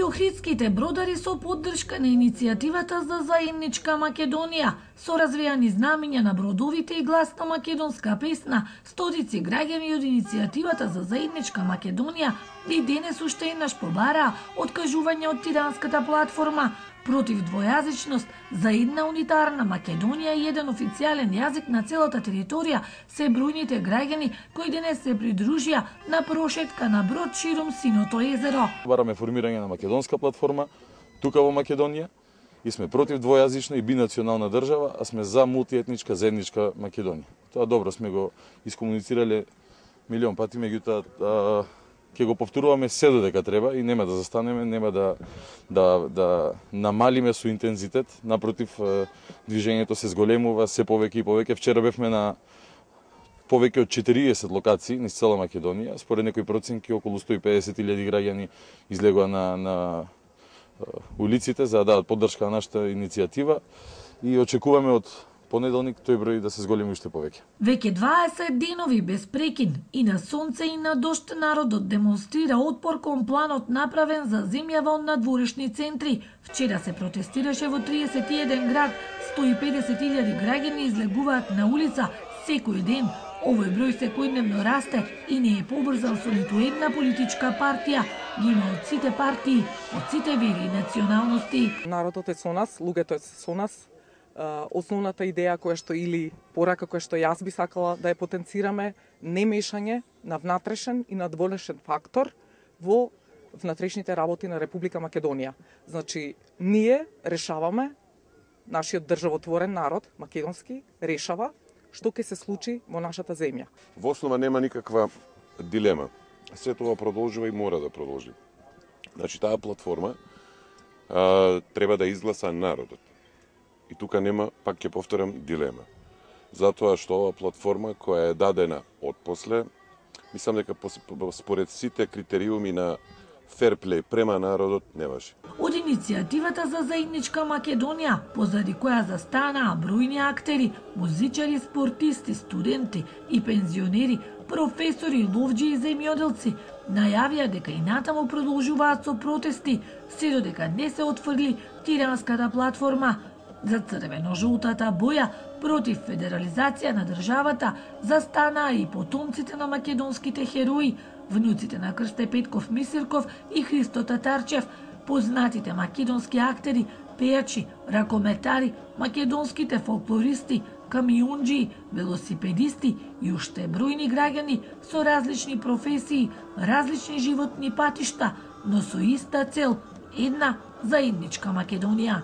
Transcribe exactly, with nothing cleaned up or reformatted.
и охридските бродари со поддршка на иницијативата за заедничка Македонија, со развијани знамиња на бродовите и гласна македонска песна, стотици граѓани од иницијативата за заедничка Македонија и денес уште еднаш побараа откажување од тиранската платформа против двојазичност за една унитарна Македонија и еден официјален јазик на целата територија се бројните граѓани кои денес се придружија на прошетка на брод широм Синото езеро. Бараме формирање на македонска платформа тука во Македонија и сме против двојазична и бинационална држава, а сме за мултиетничка заедничка Македонија. Тоа добро сме го искомуницирале милион пати, меѓутоа ќе го повторуваме се додека треба и нема да застанеме, нема да да да намалиме со интензитет, напротив движењето се зголемува се повеќе и повеќе. Вчера бевме на повеќе од четириесет локации низ цела Македонија, според некои проценки околу сто и педесет илјади граѓани излегоа на на улиците за да дадат поддршка на нашата иницијатива и очекуваме од понеделник тој број да се зголеми уште повеќе. Веќе дваесет денови без прекин и на сонце и на дожд народот демонстрира отпор кон планот направен за земја во надворешни центри. Вчера се протестираше во триесет и еден град, сто и педесет илјади граѓани излегуваат на улица секој ден. Овој број секојдневно расте и не е побрзан со ниту една политичка партија. Ги има од сите партии, од сите вери и националности. Народот е со нас, луѓето е со нас. Основната идеја која што или порака која што јас би сакала да ја потенцираме, не мешање на внатрешен и надворешен фактор во внатрешните работи на Република Македонија. Значи, ние решаваме, нашиот државотворен народ, македонски, решава што ќе се случи во нашата земја. Во основа нема никаква дилема. Се тоа продолжува и мора да продолжи. Значи, таа платформа а, треба да изгласа народот. И тука нема, пак ќе повторам, дилема. Затоа што ова платформа која е дадена отпосле, мислам дека според сите критериуми на ферплей према народот не важи. Од иницијативата за заедничка Македонија, позади која застанаа бројни актери, музичари, спортисти, студенти и пензионери, професори, ловџи и земјоделци, најавија дека и натаму продолжуваат со протести, се додека не се отфрли тиранската платформа. За црвено-жолтата боја против федерализација на државата застанаа и потомците на македонските херои, внуците на Крсте Петков Мисирков и Христо Татарчев, познатите македонски актери, пејачи, ракометари, македонските фолклористи, камионџи, велосипедисти и уште бројни граѓани со различни професии, различни животни патишта, но со иста цел, една заедничка Македонија.